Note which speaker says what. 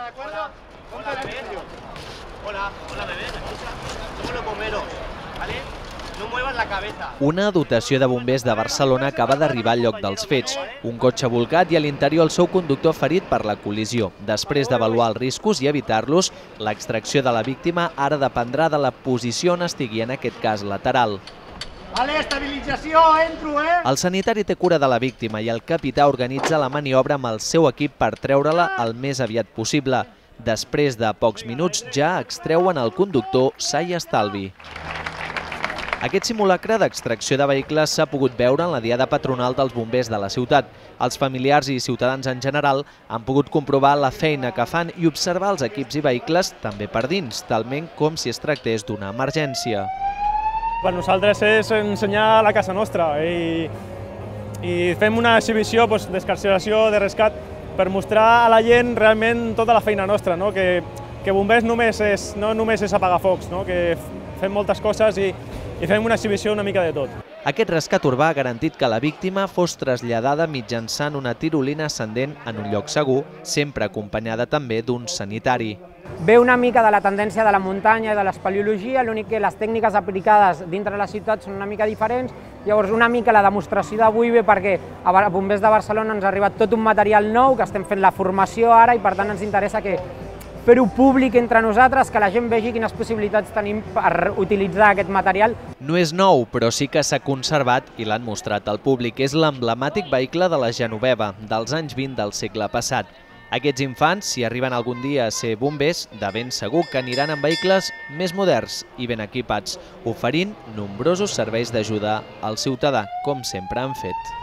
Speaker 1: ¿de acuerdo? Hola, bebé. Hola, bebé, ¿me escuchas? Somos los bomberos, ¿vale? No muevas la cabeza.
Speaker 2: Una dotació de bombers de Barcelona acaba d'arribar al lloc dels fets. Un cotxe volcat i a l'interior el seu conductor ferit per la col·lisió. Després d'avaluar els riscos i evitar-los, l'extracció de la víctima ara dependrà de la posició on estigui, en aquest cas lateral.
Speaker 1: Vale, estabilització, entro,
Speaker 2: El sanitari té cura de la víctima i el capità organitza la maniobra amb el seu equip per treure-la el més aviat possible. Després de pocs minuts ja extreuen el conductor sa i estalvi. Aquest simulacre d'extracció de vehicles s'ha pogut veure en la diada patronal dels bombers de la ciutat. Els familiars i ciutadans en general han pogut comprovar la feina que fan i observar els equips i vehicles també per dins, talment com si es tractés d'una emergència.
Speaker 3: Per nosaltres és ensenyar la casa nostra i fem una exhibició d'excarceració, de rescat, per mostrar a la gent realment tota la feina nostra, que bombers no només és apagar focs, que fem moltes coses i fem una exhibició una mica de tot.
Speaker 2: Aquest rescat urbà ha garantit que la víctima fos traslladada mitjançant una tirolina ascendent en un lloc segur, sempre acompanyada també d'un sanitari.
Speaker 4: Ve una mica de la tendència de la muntanya i de l'espeleologia, l'únic que les tècniques aplicades dintre la ciutat són una mica diferents, llavors una mica la demostració d'avui ve perquè a Bombers de Barcelona ens ha arribat tot un material nou, que estem fent la formació ara i per tant ens interessa fer-ho públic entre nosaltres, que la gent vegi quines possibilitats tenim per utilitzar aquest material.
Speaker 2: No és nou, però sí que s'ha conservat i l'han mostrat al públic. És l'emblemàtic vehicle de la Genoveva, dels anys 20 del segle passat. Aquests infants, si arriben algun dia a ser bombers, de ben segur que aniran en vehicles més moderns i ben equipats, oferint nombrosos serveis d'ajuda al ciutadà, com sempre han fet.